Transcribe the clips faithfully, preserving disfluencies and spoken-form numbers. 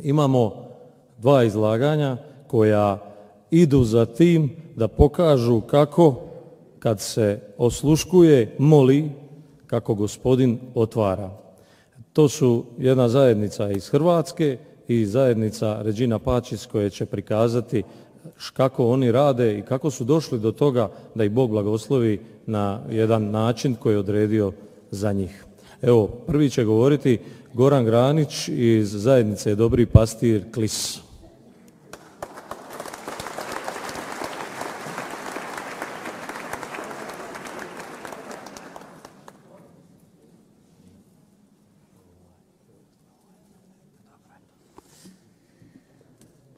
Imamo dva izlaganja koja idu za tim da pokažu kako kad se osluškuje, moli, kako Gospodin otvara. To su jedna zajednica iz Hrvatske i zajednica Regina Pacis koje će prikazati kako oni rade i kako su došli do toga da ih Bog blagoslovi na jedan način koji je odredio za njih. Evo, prvi će govoriti Goran Granić iz zajednice Dobri pastir Klis.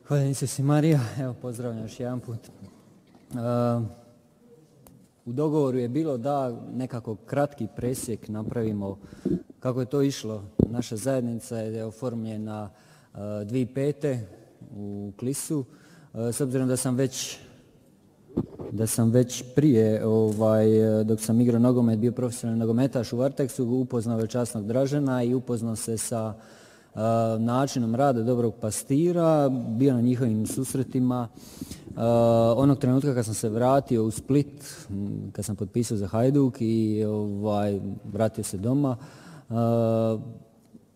Hvala Isus i Marija, evo pozdravljam još jedan put. Uh, u dogovoru je bilo da nekako kratki presjek napravimo kako je to išlo. Naša zajednica je oformljena uh, dvije tisuće pete. u Klisu. Uh, s obzirom da sam već da sam već prije, ovaj, dok sam igrao nogomet, bio profesionalni nogometaš u Varteksu, upoznao veličasnog Dražena i upoznao se sa Uh, načinom rada dobrog pastira, bio na njihovim susretima. Uh, onog trenutka kad sam se vratio u Split, kad sam potpisao za Hajduk i ovaj, vratio se doma, uh,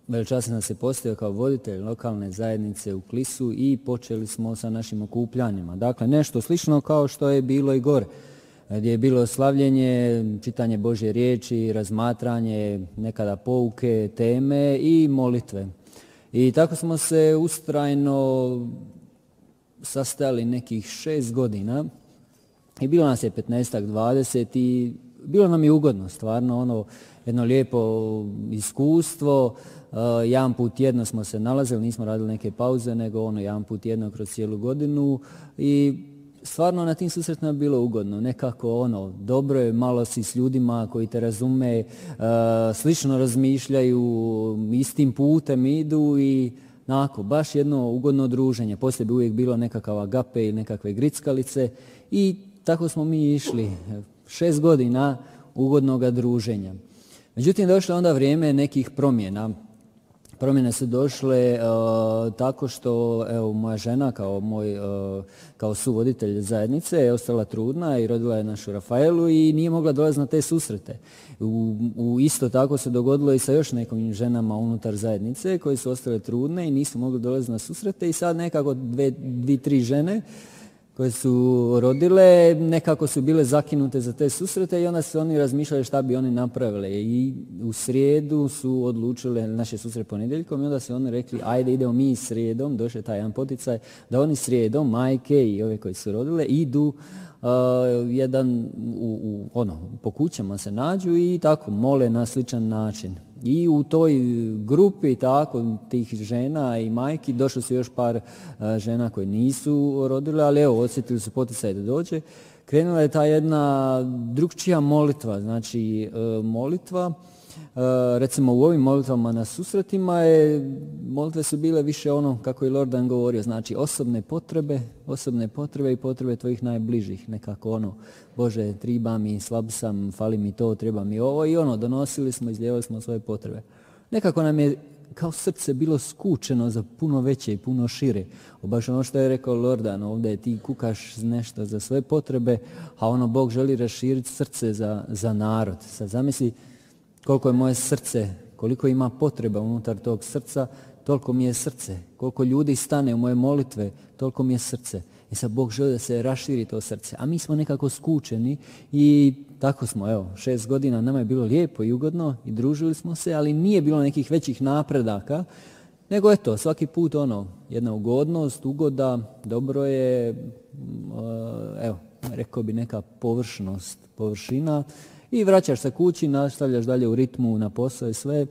veličasno sam se postavio kao voditelj lokalne zajednice u Klisu i počeli smo sa našim okupljanjima. Dakle, nešto slično kao što je bilo i gore, gdje je bilo slavljenje, čitanje Božje riječi, razmatranje, nekada pouke, teme i molitve. I tako smo se ustrajno sastajali nekih šest godina i bilo nas je petnaestak, dvadeset i bilo nam je ugodno, stvarno ono jedno lijepo iskustvo. Uh, jedan put tjedno smo se nalazili, nismo radili neke pauze, nego ono jedan put tjedno kroz cijelu godinu i stvarno na tim susretima je bilo ugodno, nekako ono, dobro je, malo si s ljudima koji te razume, uh, slično razmišljaju, istim putem idu i nako, baš jedno ugodno druženje. Poslije bi uvijek bilo nekakav agape ili nekakve grickalice i tako smo mi išli, šest godina ugodnog druženja. Međutim, došlo onda vrijeme nekih promjena. Promjene su došle uh, tako što evo, moja žena kao moj uh, kao suvoditelj zajednice je ostala trudna i rodila je našu Rafaelu i nije mogla dolaziti na te susrete. U, u isto tako se dogodilo i sa još nekim ženama unutar zajednice koje su ostale trudne i nisu mogli dolaziti na susrete i sad nekako dve, dvi, tri žene koje su rodile, nekako su bile zakinute za te susrete i onda su oni razmišljali šta bi oni napravile. I u srijedu su odlučile naše susrete ponedjeljkom i onda su oni rekli ajde idemo mi srijedom, došao je taj jedan poticaj, da oni srijedom, majke i ove koje su rodile, idu uh, jedan, u, u, ono, po kućama se nađu i tako mole na sličan način. I u toj grupi tako tih žena i majki došlo su još par uh, žena koje nisu rodile, ali evo osjetili su poticaj da dođe. Krenula je ta jedna drugčija molitva, znači uh, molitva, uh, recimo u ovim molitvama na susretima je, molitve su bile više ono kako je Lordan govorio, znači osobne potrebe, osobne potrebe i potrebe tvojih najbližih, nekako ono, Bože, triba mi, slab sam, fali mi to, treba mi ovo i ono, donosili smo, izlijevali smo svoje potrebe. Nekako nam je kao srce bilo skučeno za puno veće i puno šire. Baš ono što je rekao Lordan, ovdje ti kukaš nešto za svoje potrebe, a ono Bog želi raširiti srce za, za narod. Sad zamisli koliko je moje srce, koliko ima potreba unutar tog srca, toliko mi je srce. Koliko ljudi stane u moje molitve, toliko mi je srce. I sad Bog želi da se raširi to srce. A mi smo nekako skučeni i tako smo, evo, šest godina nama je bilo lijepo i ugodno i družili smo se, ali nije bilo nekih većih napredaka, nego eto, svaki put ono, jedna ugodnost, ugoda, dobro je, evo, rekao bi neka površnost, površina i vraćaš se kući, nastavljaš dalje u ritmu na posao i sve.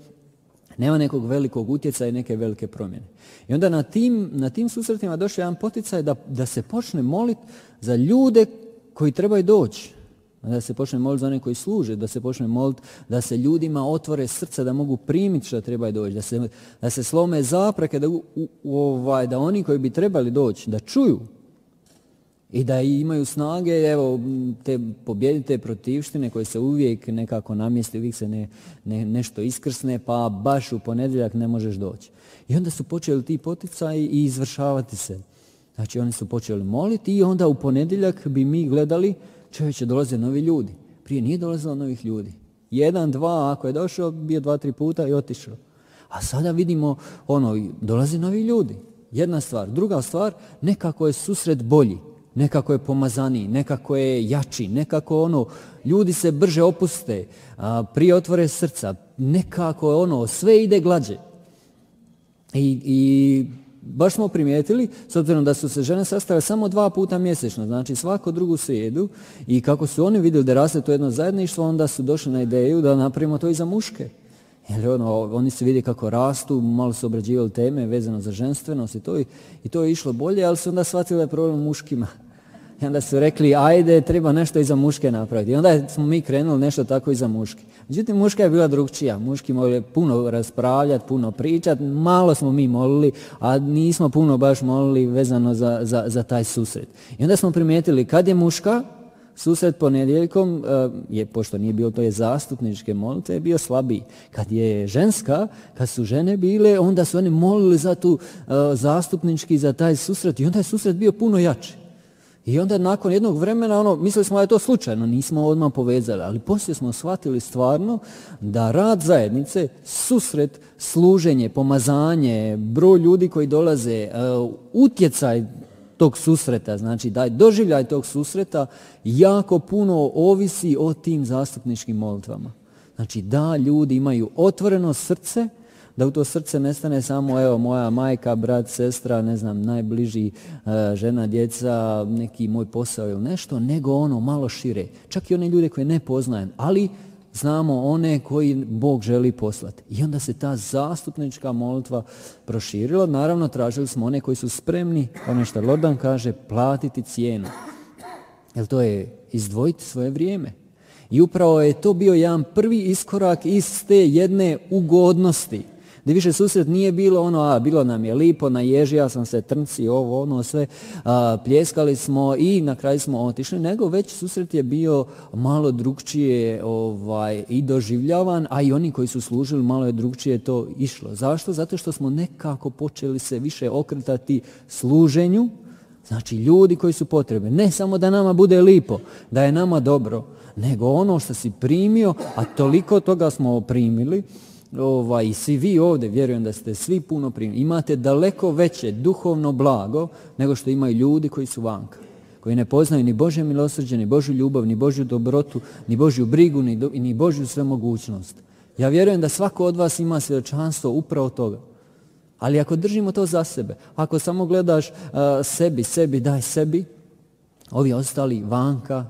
Nema nekog velikog utjecaja i neke velike promjene. I onda na tim, na tim susretima došao jedan poticaj da, da se počne moliti za ljude koji trebaju doći. Da se počne moliti za one koji služe, da se počne moliti da se ljudima otvore srce, da mogu primiti što trebaju doći, da se, da se slome zapreke, da, u, u, ovaj, da oni koji bi trebali doći, da čuju. I da imaju snage, evo, te pobjedite protivštine koje se uvijek nekako namjesti, uvijek se ne, ne, nešto iskrsne, pa baš u ponedjeljak ne možeš doći. I onda su počeli ti poticaji i izvršavati se. Znači oni su počeli moliti i onda u ponedjeljak bi mi gledali, čovječe, dolaze novi ljudi. Prije nije dolazilo novih ljudi. Jedan, dva, ako je došao, bio dva, tri puta i otišao. A sada vidimo, ono, dolaze novi ljudi. Jedna stvar. Druga stvar, nekako je susret bolji. Nekako je pomazaniji, nekako je jači, nekako ono, ljudi se brže opuste, a, prije otvore srca, nekako ono, sve ide glađe. I, i baš smo primijetili, s obzirom da su se žene sastale samo dva puta mjesečno, znači svako drugu srijedu, i kako su oni vidjeli da raste to jedno zajedništvo, onda su došli na ideju da napravimo to i za muške. Jer ono, oni su vidjeli kako rastu, malo su obrađivali teme vezano za ženstvenost i to, i, i to je išlo bolje, ali su onda shvatili da je problem muškima. I onda su rekli, ajde, treba nešto i za muške napraviti. I onda smo mi krenuli nešto tako i za muške. Međutim, muška je bila drugčija. Muški mogli puno raspravljati, puno pričati, malo smo mi molili, a nismo puno baš molili vezano za, za, za taj susret. I onda smo primijetili, kad je muška, susret ponedjeljkom, je, pošto nije bilo to je zastupničke molitve, je bio slabiji. Kad je ženska, kad su žene bile, onda su oni molili za tu uh, zastupnički, za taj susret, i onda je susret bio puno jači. I onda nakon jednog vremena, ono, mislili smo da je to slučajno, nismo odmah povezali, ali poslije smo shvatili stvarno da rad zajednice, susret, služenje, pomazanje, broj ljudi koji dolaze, uh, utjecaj tog susreta, znači da doživljaj tog susreta jako puno ovisi o tim zastupničkim molitvama. Znači da ljudi imaju otvoreno srce, da u to srce ne stane samo evo moja majka, brat, sestra, ne znam, najbliži, uh, žena, djeca, neki moj posao ili nešto, nego ono malo šire. Čak i one ljude koje ne poznajem, ali znamo one koji Bog želi poslati. I onda se ta zastupnička molitva proširila. Naravno, tražili smo one koji su spremni, ono što Lordan kaže, platiti cijenu. Jer to je izdvojiti svoje vrijeme. I upravo je to bio jedan prvi iskorak iz te jedne ugodnosti. Da više susret nije bilo ono, a bilo nam je lipo, naježija sam se, trnci, ovo, ono, sve, a, pljeskali smo i na kraju smo otišli, nego već susret je bio malo drugčije ovaj, i doživljavan, a i oni koji su služili malo je drugčije to išlo. Zašto? Zato što smo nekako počeli se više okretati služenju, znači ljudi koji su potrebni. Ne samo da nama bude lipo, da je nama dobro, nego ono što si primio, a toliko toga smo primili, Ovaj, i svi vi ovdje, vjerujem da ste svi puno primili, imate daleko veće duhovno blago nego što imaju ljudi koji su vanka, koji ne poznaju ni Božje milosrđe, ni Božju ljubav, ni Božju dobrotu, ni Božju brigu, ni, do, ni Božju svemogućnost. Ja vjerujem da svako od vas ima svjedočanstvo upravo toga. Ali ako držimo to za sebe, ako samo gledaš uh, sebi, sebi, daj sebi, ovi ostali vanka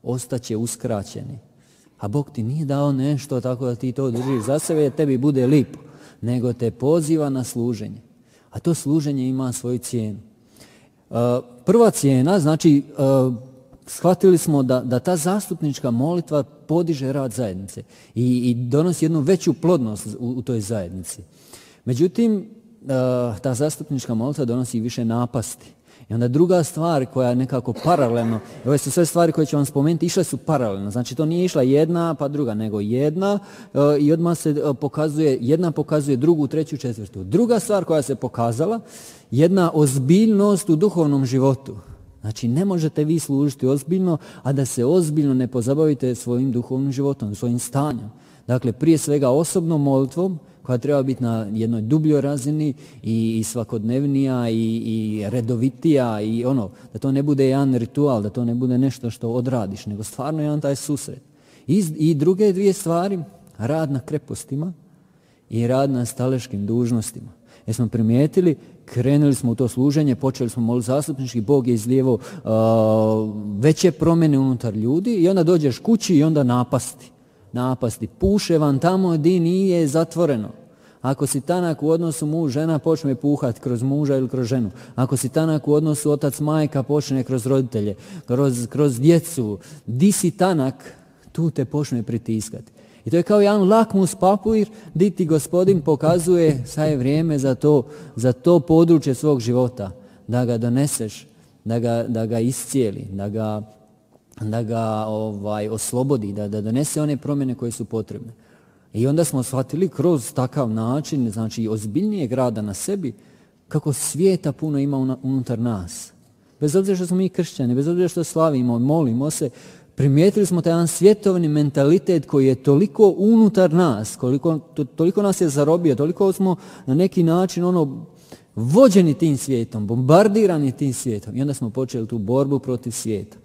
ostaće uskraćeni. A Bog ti nije dao nešto tako da ti to držiš za sebe, jer tebi bude lipo, nego te poziva na služenje. A to služenje ima svoju cijenu. Uh, prva cijena, znači, uh, shvatili smo da, da ta zastupnička molitva podiže rad zajednice i, i donosi jednu veću plodnost u, u toj zajednici. Međutim, uh, ta zastupnička molitva donosi više napasti. I onda druga stvar koja je nekako paralelno, ove su sve stvari koje ću vam spomenuti, išle su paralelno. Znači to nije išla jedna pa druga, nego jedna uh, i odmah se uh, pokazuje, jedna pokazuje drugu, treću, četvrtu. Druga stvar koja se pokazala, jedna ozbiljnost u duhovnom životu. Znači ne možete vi služiti ozbiljno, a da se ozbiljno ne pozabavite svojim duhovnim životom, svojim stanjem. Dakle, prije svega osobnom molitvom, koja treba biti na jednoj dubljoj razini i, i svakodnevnija i, i redovitija i ono, da to ne bude jedan ritual, da to ne bude nešto što odradiš, nego stvarno jedan taj susret. I, i druge dvije stvari, rad na krepostima i rad na staleškim dužnostima. Jer smo primijetili, krenuli smo u to služenje, počeli smo moliti zastupnički, Bog je izlijevo uh, veće promjene unutar ljudi i onda dođeš kući i onda napasti. napasti. Puše vam tamo gdje nije zatvoreno. Ako si tanak u odnosu muž, žena počne puhati kroz muža ili kroz ženu. Ako si tanak u odnosu otac, majka, počne kroz roditelje, kroz, kroz djecu. Di si tanak, tu te počne pritiskati. I to je kao jedan lakmus papir gdje ti Gospodin pokazuje sad je vrijeme za to, za to područje svog života. Da ga doneseš da ga, da ga iscijeli, da ga, da ga ovaj, oslobodi, da, da donese one promjene koje su potrebne. I onda smo shvatili kroz takav način, znači ozbiljnijeg rada na sebi, kako svijeta puno ima unutar nas. Bez obzira što smo mi kršćani, bez obzira što slavimo, molimo se, primijetili smo taj jedan svjetovni mentalitet koji je toliko unutar nas, koliko, to, toliko nas je zarobio, toliko smo na neki način ono vođeni tim svijetom, bombardirani tim svijetom. I onda smo počeli tu borbu protiv svijeta.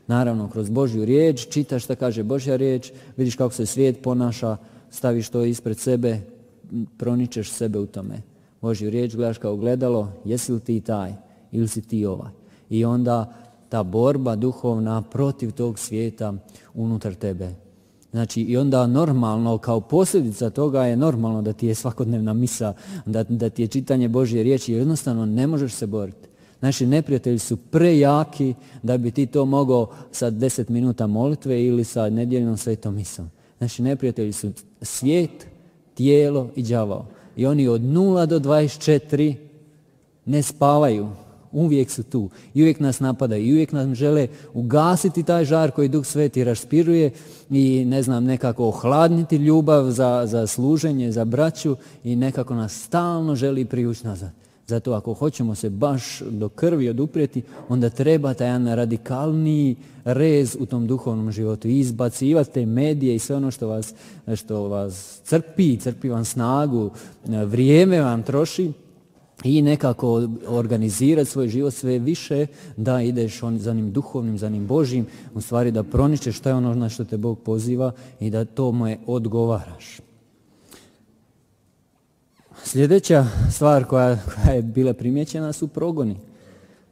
Naravno, kroz Božju riječ, čitaš šta kaže Božja riječ, vidiš kako se svijet ponaša, staviš to ispred sebe, proničeš sebe u tome. Božju riječ gledaš kao gledalo, jesi li ti taj ili si ti ovaj. I onda ta borba duhovna protiv tog svijeta unutar tebe. Znači i onda normalno, kao posljedica toga je normalno da ti je svakodnevna misa, da, da ti je čitanje Božje riječi, jednostavno ne možeš se boriti. Naši neprijatelji su prejaki da bi ti to mogao sa deset minuta molitve ili sa nedjeljnom svetom misom. Naši neprijatelji su svijet, tijelo i đavao. I oni od nula do dvadeset četiri ne spavaju. Uvijek su tu. I uvijek nas napadaju. I uvijek nam žele ugasiti taj žar koji Duh Sveti raspiruje i ne znam, nekako ohladniti ljubav za, za služenje, za braću i nekako nas stalno želi privući nazad. Zato ako hoćemo se baš do krvi oduprijeti, onda treba taj jedan radikalniji rez u tom duhovnom životu. I izbacivati te medije i sve ono što vas, što vas crpi, crpi vam snagu, vrijeme vam troši i nekako organizirati svoj život sve više da ideš on, za onim duhovnim, za onim Božjim, u stvari da proničeš šta je ono na što te Bog poziva i da tome odgovaraš. Sljedeća stvar koja, koja je bila primijećena su progoni.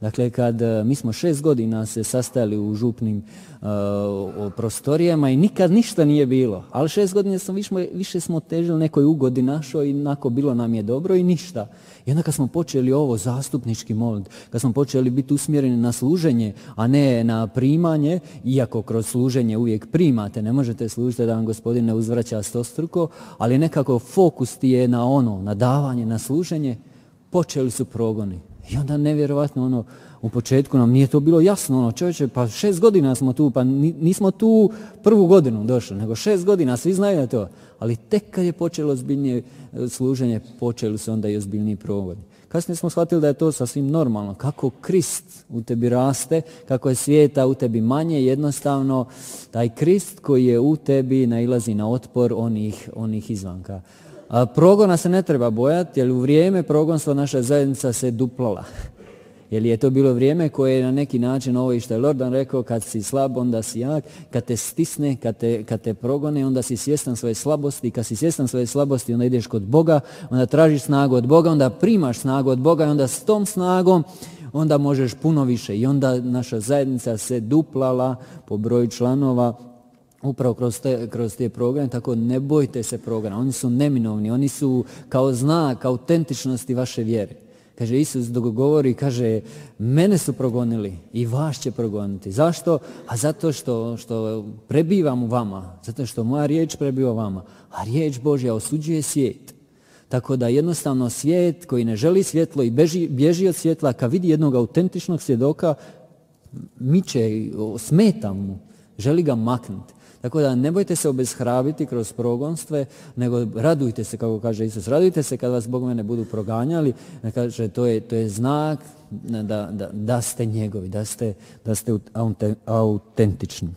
Dakle, kad mi smo šest godina se sastajali u župnim uh, prostorijama i nikad ništa nije bilo, ali šest godina smo više, više smo težili nekoj ugodi našoj i onako bilo nam je dobro i ništa. I onda kad smo počeli ovo zastupnički molit, kad smo počeli biti usmjereni na služenje, a ne na primanje, iako kroz služenje uvijek primate, ne možete služiti da vam Gospodin ne uzvraća stostruko, ali nekako fokus ti je na ono, na davanje, na služenje, počeli su progoni. I onda nevjerovatno ono, u početku nam nije to bilo jasno, ono, čovječe, pa šest godina smo tu, pa nismo tu prvu godinu došli, nego šest godina, svi znaju to. Ali tek kad je počelo ozbiljnije služenje, počeli su onda i ozbiljniji progoni. Kasnije smo shvatili da je to sasvim normalno. Kako Krist u tebi raste, kako je svijeta u tebi manje, jednostavno taj Krist koji je u tebi nailazi na otpor onih, onih izvanka. A progona se ne treba bojati, jer u vrijeme progonstva naša zajednica se duplala. Jer je to bilo vrijeme koje je na neki način, ovo i što je Lordan rekao, kad si slab, onda si jak, kad te stisne, kad te, kad te progone, onda si svjestan svoje slabosti, kad si svjestan svoje slabosti, onda ideš kod Boga, onda tražiš snagu od Boga, onda primaš snagu od Boga i onda s tom snagom onda možeš puno više. I onda naša zajednica se duplala po broju članova, upravo kroz te, kroz te programe, tako ne bojte se programa, oni su neminovni, oni su kao znak autentičnosti vaše vjere. Kaže Isus dok govori, kaže, mene su progonili i vas će progoniti. Zašto? A zato što, što prebivam u vama, zato što moja riječ prebiva u vama, a riječ Božja osuđuje svijet. Tako da jednostavno svijet koji ne želi svjetlo i beži, bježi od svjetla, kad vidi jednog autentičnog svjedoka, miče, smeta mu, želi ga maknuti. Tako da ne bojte se obeshrabriti kroz progonstve, nego radujte se, kako kaže Isus, radujte se kad vas Bog mene budu proganjali, kaže to je, to je znak da, da, da ste njegovi, da ste, da ste autentični.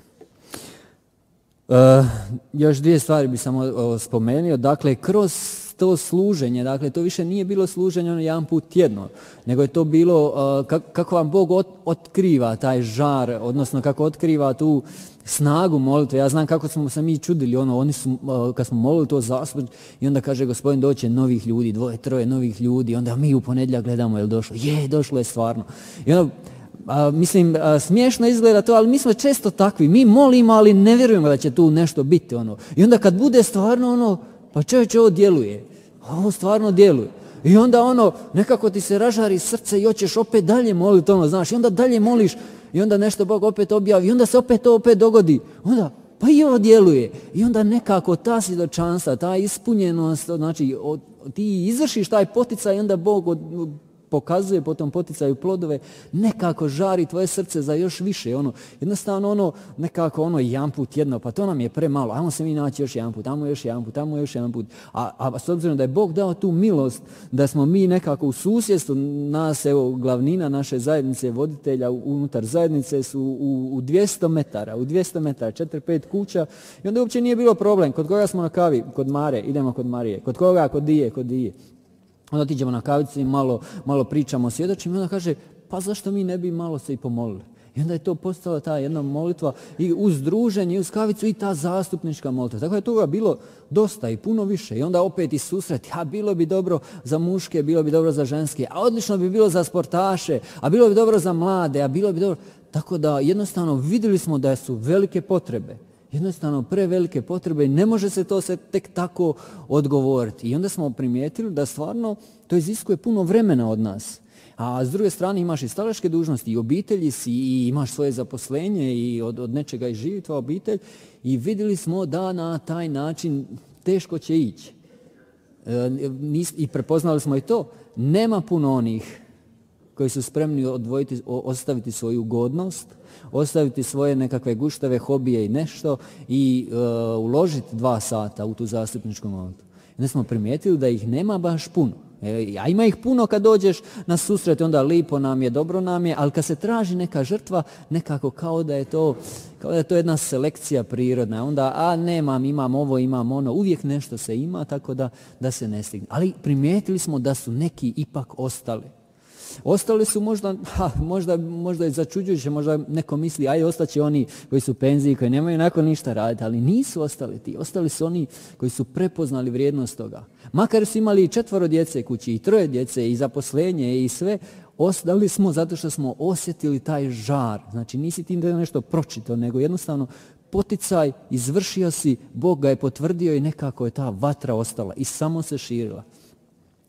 Uh, još dvije stvari bi samo spomenuo, dakle kroz to služenje, dakle to više nije bilo služenje ono jedan put tjedno, nego je to bilo uh, kako, kako vam Bog ot, otkriva taj žar, odnosno kako otkriva tu snagu molitve. Ja znam kako smo se mi čudili, ono, oni su, uh, kad smo molili to zaspod i onda kaže Gospodin doće novih ljudi, dvoje, troje novih ljudi, onda mi u ponedjeljak gledamo je li došlo, je, došlo je stvarno. I onda, a, mislim, a, smiješno izgleda to, ali mi smo često takvi, mi molimo, ali ne vjerujemo da će tu nešto biti, ono. I onda kad bude stvarno ono, pa čovječe, ovo djeluje, ovo stvarno djeluje. I onda ono, nekako ti se ražari srce i hoćeš opet dalje moliti, ono, znaš, i onda dalje moliš i onda nešto Bog opet objavi i onda se opet to opet dogodi. Onda, pa i ovo djeluje. I onda nekako ta svjedočanstva, ta ispunjenost, znači, od, ti izvršiš taj poticaj i onda Bog od, pokazuje po tom poticaju plodove, nekako žari tvoje srce za još više. Ono, jednostavno ono, nekako ono jedan put jedno, pa to nam je premalo, ajmo se mi naći još jedan put, ajmo još jedan put, ajmo još jedan put. A, a s obzirom da je Bog dao tu milost, da smo mi nekako u susjedstvu, nas, evo, glavnina naše zajednice, voditelja unutar zajednice su u, u dvjesto metara, u dvjesto metara, četiri pet kuća, i onda uopće nije bilo problem. Kod koga smo na kavi? Kod Mare, idemo kod Marije. Kod koga? Kod Dije, kod Dije. Onda otiđemo na kavicu i malo, malo pričamo, svjedočimo, i onda kaže, pa zašto mi ne bi malo se i pomolili? I onda je to postala ta jedna molitva i uz druženje, i uz kavicu, i ta zastupnička molitva. Tako je toga bilo dosta i puno više. I onda opet i susret, a bilo bi dobro za muške, bilo bi dobro za ženske, a odlično bi bilo za sportaše, a bilo bi dobro za mlade, a bilo bi dobro... Tako da jednostavno vidjeli smo da su velike potrebe. Jednostavno prevelike potrebe i ne može se to se tek tako odgovoriti. I onda smo primijetili da stvarno to iziskuje puno vremena od nas. A s druge strane imaš i staračke dužnosti, i obitelji si, i imaš svoje zaposlenje, i od, od nečega i živi tvoja obitelj. I vidjeli smo da na taj način teško će ići. E, I prepoznali smo i to. Nema puno onih koji su spremni odvojiti, ostaviti svoju ugodnost, ostaviti svoje nekakve guštave, hobije i nešto i e, uložiti dva sata u tu zastupničku molitvu. Onda smo primijetili da ih nema baš puno. E, a ima ih puno kad dođeš na susret, onda lipo nam je, dobro nam je, ali kad se traži neka žrtva, nekako kao da je to, kao da je to jedna selekcija prirodna. Onda, a nemam, imam ovo, imam ono, uvijek nešto se ima, tako da, da se ne stigne. Ali primijetili smo da su neki ipak ostali. Ostali su možda, ha, možda, možda je začuđujuće, možda neko misli, aj ostaće oni koji su u penziji, koji nemaju nakon ništa raditi, ali nisu ostali ti. Ostali su oni koji su prepoznali vrijednost toga. Makar su imali i četvoro djece kući, i troje djece, i zaposlenje, i sve, ostali smo zato što smo osjetili taj žar. Znači nisi ti nešto pročitao, nego jednostavno poticaj, izvršio si, Bog ga je potvrdio i nekako je ta vatra ostala i samo se širila.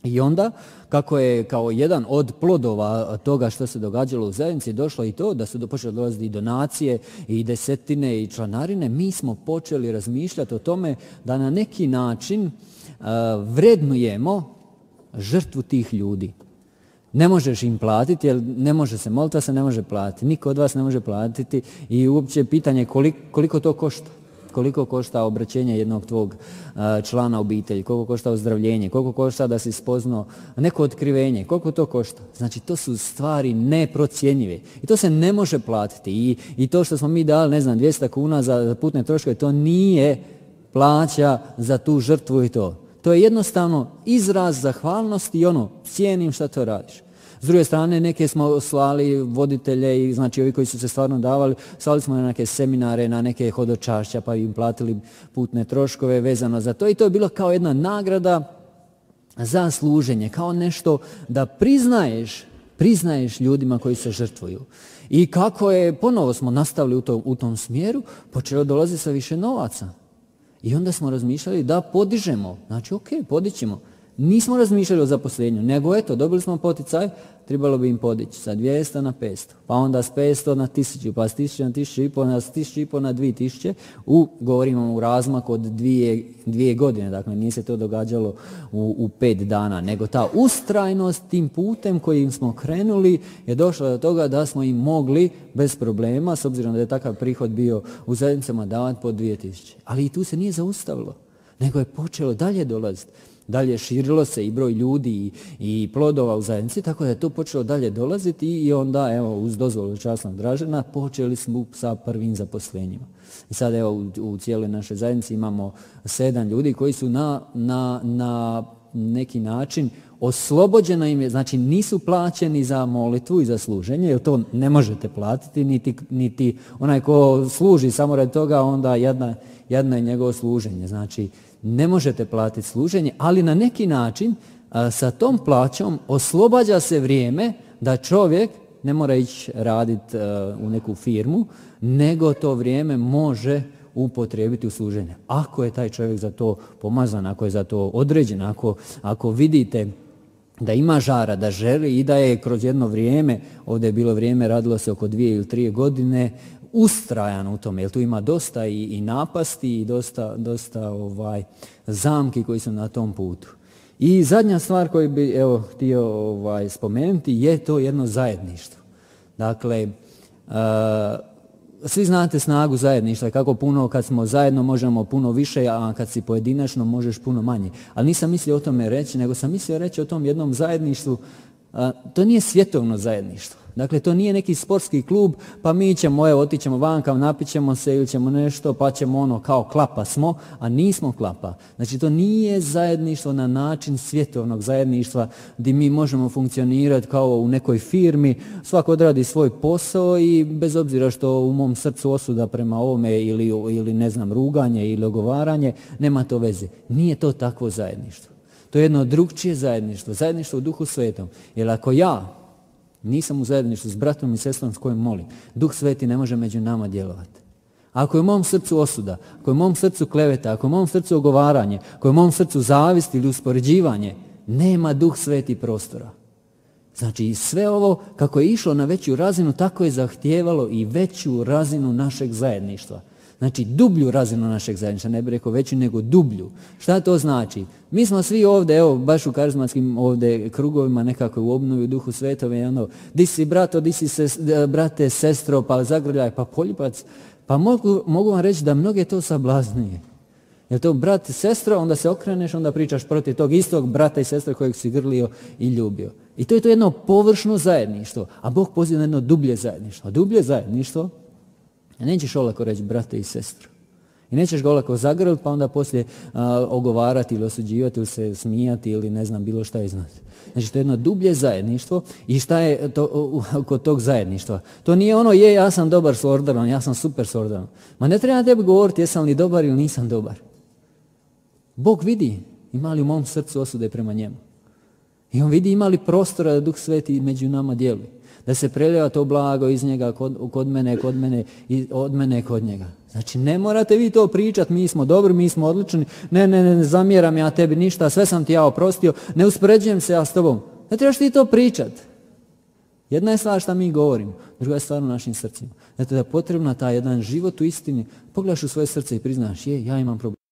I onda, kako je kao jedan od plodova toga što se događalo u zajednici, došlo i to da su počeli dolaziti i donacije, i desetine, i članarine, mi smo počeli razmišljati o tome da na neki način uh, vrednujemo žrtvu tih ljudi. Ne možeš im platiti, jer ne može se, molitva se ne može platiti, niko od vas ne može platiti i uopće pitanje koliko, koliko to košta. Koliko košta obraćenje jednog tvog člana obitelji, koliko košta ozdravljenje, koliko košta da si spoznao neko otkrivenje, koliko to košta. Znači to su stvari neprocjenjive i to se ne može platiti. I, i to što smo mi dali, ne znam, dvjesto kuna za, za putne troškove, to nije plaća za tu žrtvu i to. To je jednostavno izraz zahvalnosti i ono, cijenim šta to radiš. S druge strane, neke smo slali voditelje i znači ovi koji su se stvarno davali, slali smo na neke seminare, na neke hodočašća pa im platili putne troškove vezano za to i to je bilo kao jedna nagrada za služenje, kao nešto da priznaješ, priznaješ ljudima koji se žrtvuju. I kako je, ponovo smo nastavili u tom, u tom smjeru, počelo dolazi sa više novaca. I onda smo razmišljali da podižemo, znači ok, podićemo. Nismo razmišljali o zaposlenju, nego eto, dobili smo poticaj, trebalo bi im podići sa dvjesto na petsto, pa onda s petsto na tisuću, pa s tisuću na tisuću i po, na tisuću i po na dvije tisuće, u, govorimo u razmaku od dvije, dvije godine, dakle nije se to događalo u, u pet dana, nego ta ustrajnost tim putem kojim smo krenuli je došla do toga da smo im mogli bez problema, s obzirom da je takav prihod bio u zajednicama, davati po dvije tisuće. Ali i tu se nije zaustavilo, nego je počelo dalje dolaziti. Dalje širilo se i broj ljudi i, i plodova u zajednici, tako da je to počelo dalje dolaziti i onda, evo, uz dozvolu časnog Dražena, počeli smo sa prvim zaposlenjima. I sad, evo, u, u cijeloj našoj zajednici imamo sedam ljudi koji su na, na, na neki način oslobođeno im je, znači nisu plaćeni za molitvu i za služenje, jer to ne možete platiti, niti, niti onaj ko služi samo radi toga, onda jedna, jedna je njegovo služenje, znači ne možete platiti služenje, ali na neki način a, sa tom plaćom oslobađa se vrijeme da čovjek ne mora ići raditi u neku firmu, nego to vrijeme može upotrijebiti u služenje. Ako je taj čovjek za to pomazan, ako je za to određen, ako, ako vidite da ima žara, da želi i da je kroz jedno vrijeme, ovdje je bilo vrijeme, radilo se oko dvije ili tri godine, ustrajan u tome, jer tu ima dosta i, i napasti i dosta, dosta ovaj, zamki koji su na tom putu. I zadnja stvar koju bi evo htio ovaj, spomenuti je to jedno zajedništvo. Dakle, uh, svi znate snagu zajedništva, kako puno kad smo zajedno možemo puno više, a kad si pojedinačno možeš puno manje. Ali nisam mislio o tome reći, nego sam mislio reći o tom jednom zajedništvu. A, to nije svjetovno zajedništvo. Dakle, to nije neki sportski klub, pa mi ćemo, evo, otićemo vanka, napićemo se ili ćemo nešto, pa ćemo ono kao klapa smo, a nismo klapa. Znači, to nije zajedništvo na način svjetovnog zajedništva gdje mi možemo funkcionirati kao u nekoj firmi, svako odradi svoj posao i bez obzira što u mom srcu osuda prema ovome ili, ili ne znam, ruganje ili ogovaranje, nema to veze. Nije to takvo zajedništvo. To je jedno drugčije zajedništvo, zajedništvo u Duhu Svetom. Jer ako ja nisam u zajedništvu s bratom i sestrom s kojim molim, Duh Sveti ne može među nama djelovati. Ako je u mom srcu osuda, ako je u mom srcu kleveta, ako je u mom srcu ogovaranje, ako je u mom srcu zavist ili uspoređivanje, nema Duh Sveti prostora. Znači sve ovo kako je išlo na veću razinu, tako je zahtijevalo i veću razinu našeg zajedništva. Znači dublju razinu našeg zajedništva, ne bih rekao veću, nego dublju. Šta to znači? Mi smo svi ovdje, evo, baš u karizmatskim ovdje krugovima, nekako u obnovi u Duhu Svetove, i ono, di si brato, di si ses, brate, sestro, pa zagrljaj, pa poljubac. Pa mogu, mogu vam reći da mnoge to sablaznije. Jer to brat i sestro, onda se okreneš, onda pričaš protiv tog istog brata i sestre kojeg si grlio i ljubio. I to je to jedno površno zajedništvo, a Bog poziva na jedno dublje zajedništvo. A dublje zajedništvo, nećeš olako reći brate i sestru. I nećeš ga olako zagrliti pa onda poslije a, ogovarati ili osuđivati ili se smijati ili ne znam bilo šta iznad. Znači to je jedno dublje zajedništvo i šta je to, kod tog zajedništva? To nije ono je ja sam dobar s Ordanom, ja sam super s Ordanom. Ma ne treba tebi govoriti jesam li dobar ili nisam dobar. Bog vidi ima li u mom srcu osude prema njemu. I on vidi ima li prostora da Duh Sveti među nama djeluje. Da se prelijeva to blago iz njega kod, kod mene, kod mene i od mene kod njega. Znači ne morate vi to pričati, mi smo dobri, mi smo odlični, ne, ne, ne, ne zamjeram ja tebi ništa, sve sam ti ja oprostio, ne uspoređujem se ja s tobom. Ne trebaš ti to pričati. Jedna je stvar šta mi govorimo, druga je stvar u našim srcima. Zato da je potrebna ta jedan život u istini, pogledaš u svoje srce i priznaš, je, ja imam problem.